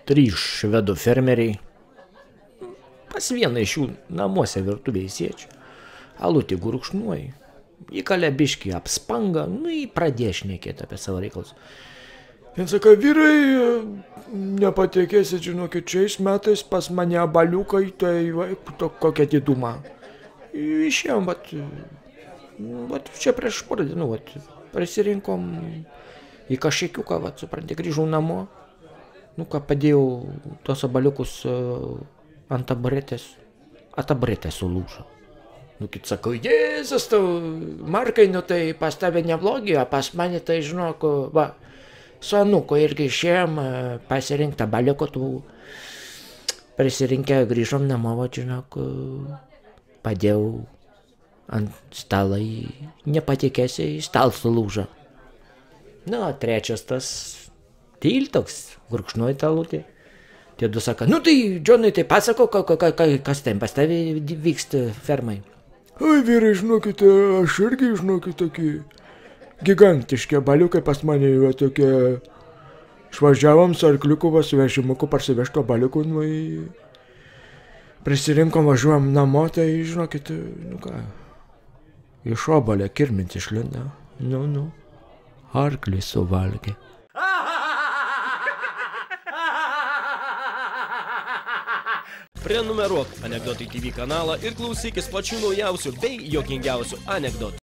3 švedų fermeriai. Pas vieną iš jų namuose virtuvėje sėdžiu. Alutį gurkšnuoju. Įkalė biškį apspanga, nu į pradėjo šnekėti apie savo reikalus. Vien sako, vyrai, nepatikėsit, žinokit, šiais metais pas mane abaliukai, tai kokia diduma. Išėjom, vat čia prieš porą dienų, prisirinkom į kažkiuką, supranti, grįžau namo. Nu ką, padėjau tos abaliukus ant taburetės, a taburetė sulūžo. Nu kit sakau, Jėzus tau, Markai, nu tai pas tave neblogi, o pas mane tai, žinok, va, su anuku irgi išėjom pasirinkti abaliuko, tų prisirinkę grįžom namo, va, žinok, padėjau ant stalą, nepatikėsi, stalas sulūžo. Nu, o trečias tas tyl toks, gurkšnuoja tą alutį. Tie du sako, nu tai, Džonai, tai pasako, kas ten pas tavį vyksta fermai. Oi, vyrai, žinokite, aš irgi, žinokit, tokie gigantiški abaliukai pas mane, va, tokie, išvažiavom su arkliuku, va, su vežimuku parsivežto abaliukų, nu, prisirinkom, važiuojam namo, tai, žinokit, nu ką, iš obalio kirmins išlinda, nu, arklis suvalgė. Prenumeruok Anekdotai TV kanalą ir klausykis pačių naujausių bei juokingiausių anekdotų.